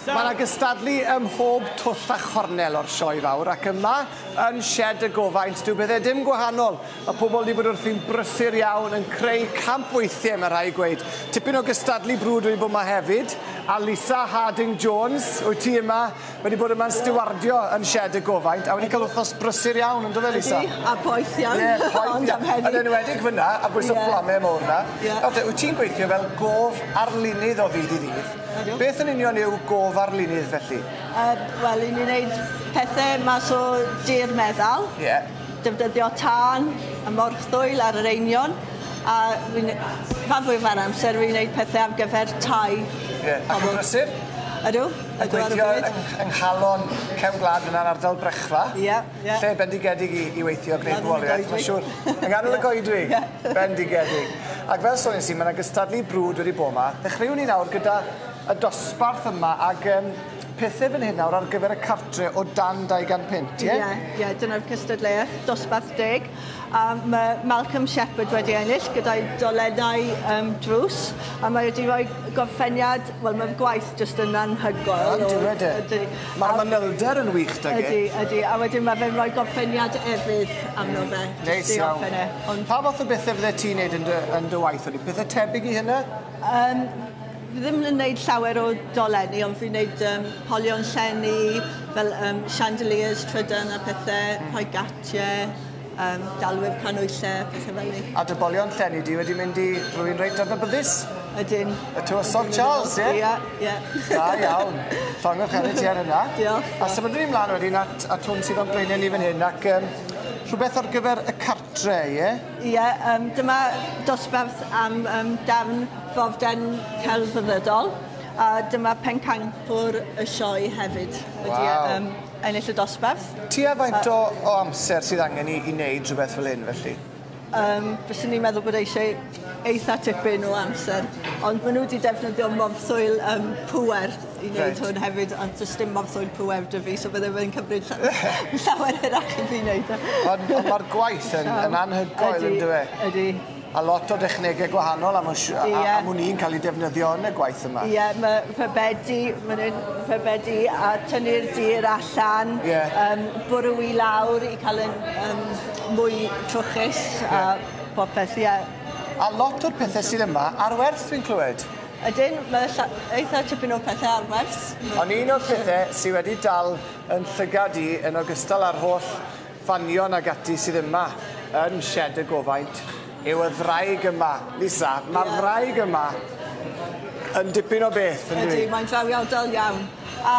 Mae yna gystadlu ym mhob twll a chornel o'r sioe fawr ac yma yn Sied y Gofaint dyw pethau dim gwahanol. Mae pobl wedi bod wrthi'n brysur iawn yn creu campweithiau mae rhai gweud. Tipyn o gystadlu brwd wedi bod yma hefyd. A Lisa Harding Jones, wyt ti yma, wedi bod yma'n stiwardio yn Sied y Gofaint a wedi cael wythnos brysur iawn, ynddo fe Lisa? Ydy, a poeth iawn. Ie, poeth iawn. Yn enwedig fyna, a bwys y fflamau mowr 'na. Nawr te, wyt ti'n gweithio fel gof arlunydd o ddydd i ddydd. Beth yn union yw gof arlunydd felly? Wel, 'yn ni'n neud pethe mas o dir meddal. Ie. Defnyddio tân a morthwyl ar yr einio'n a fi'n rhan fwyaf o'r amser fi'n neud pethe ar gyfer tai. Ie, ac yn brysur? Ydw. Yn gweithio yng nghalon cefn gwlad fyna'n ardal Brechfa. Ie, ie. Lle bendigedig i weithio a gwneud bywoliaeth, mae'n siŵr. Yng nghanol y goedwig. Ie. Bendigedig. Ac fel sonies i, ma' 'na gystadlu brwd wedi bod 'ma. Ddechreuwn ni nawr gyda y dosbarth yma ag pethe fan hyn nawr ar gyfer y cartre o dan 200 punt, ie? Ie, ie, dyna'r cystadleuaeth, dosbarth deg. A mae Malcolm Shepherd wedi ennill gyda'i dolennau drws, a mae wedi rhoi gorffeniad, wel mae'r gwaith jyst yn anhygoel. Yn dyw e? Ydy. Mae'r manylder yn wych 'dag e. Ydy, ydy, a wedyn mae fe'n rhoi gorffeniad efydd arno fe. Neis iawn. E. Ond pa fath o bethe fydde ti'n neud yn dy waith? Ydy pethe tebyg i hynna? Fi ddim yn neud llawer o dolenni, ond fi'n neud polion llenni, fel chandeliers trydan a pethe, rhoi gatiau, dalwyr canwylle, pethe fel 'ny. A dy bolion llenni di wedi mynd i rywun reit adnabyddus? Ydyn. Y Tywysog Charles, ie? Ie, ie. Da iawn. Llongyfarchiadau ti ar hynna. Diolch. A symudwn ni mlaen wedyn at hwn sydd o'n blaenau ni fan hyn, ac rhywbeth ar gyfer y cartre, ie? Ie, dyma dosbarth am darn forden celfyddydol, a dyma pencampwr y sioe hefyd wedi ennill y dosbarth. Tua faint o amser sydd angen i wneud rhywbeth fel hyn, felly? Fyswn i'n meddwl bod eisiau eitha tipyn o amser, ond maen nhw wedi defnyddio morthwyl pŵer i wneud hwn hefyd, ond does dim morthwyl pŵer 'da fi, so bydde fe'n cymryd llawer hirach i fi wneud e. Ond mae'r gwaith yn anhygoel, yn dyw e? Ydy. A lot o dechnegau gwahanol am wn i'n cael eu defnyddio yn y gwaith yma. Ie, mae rhybedi, maen nhw'n rhybedi a tynnu'r dir allan, bwrw i lawr i cael yn mwy trwchus a popeth, ie. A lot o'r pethau sydd yma ar werth dwi'n clywed? Ydyn, mae eitha tipyn o pethau ar werth. Ond un o'r pethau sydd wedi dal yn llygad i yn ogystal â'r holl fanion ag ati sydd yma yn Sied y Gofaint yw y ddraig yma. Lisa, mae'r ddraig yma yn dipyn o beth, yn dydi? Ydy, mae'n drawiadol iawn. A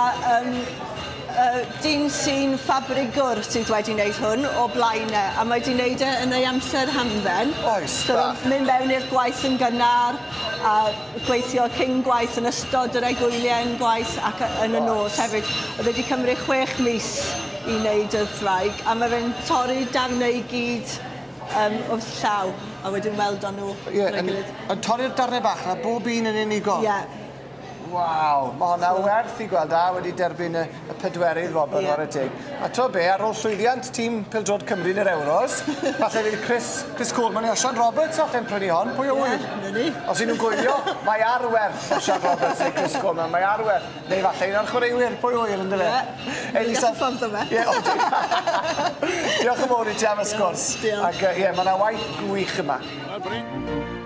dyn sy'n ffabrigwr sydd wedi wneud hwn o blaen e, a mae wedi wneud e yn ei amser hamdden. Oes, so mynd mewn i'r gwaith yn gynnar, a gweithio cyn gwaith yn ystod yr egwyliau yn gwaith ac yn y nos hefyd. Oedd wedi cymryd 6 mis i wneud y ddraig, a mae fe'n torri darnau i gyd wrth llaw, a wedyn weld o'n nhw. Ie, yn torri'r darnau bach na bob un yn unigol? Ie. Waw, mae hwnna werth i gweld a wedi derbyn y pedwerydd wobr whare teg. A to be, ar ôl llwyddiant tîm pêl-droed Cymru yn yr Euros, falle fydd Chris Coleman neu Osian Roberts falle'n prynu hon, pwy a ŵyr? Ie, 'na ni. Os 'yn nhw'n gwylio, mae ar werth Osian Roberts neu Chris Coleman, mae ar werth. Neu falle un o'r chwaraewyr, pwy ŵyr, yndyfe? Ie. Elisa... Ffordd o fe. Ie, o, diolch yn fawr i ti am y sgwrs. Diolch. Ac ie, mae yna waith gwych yma. Wel, Bryn.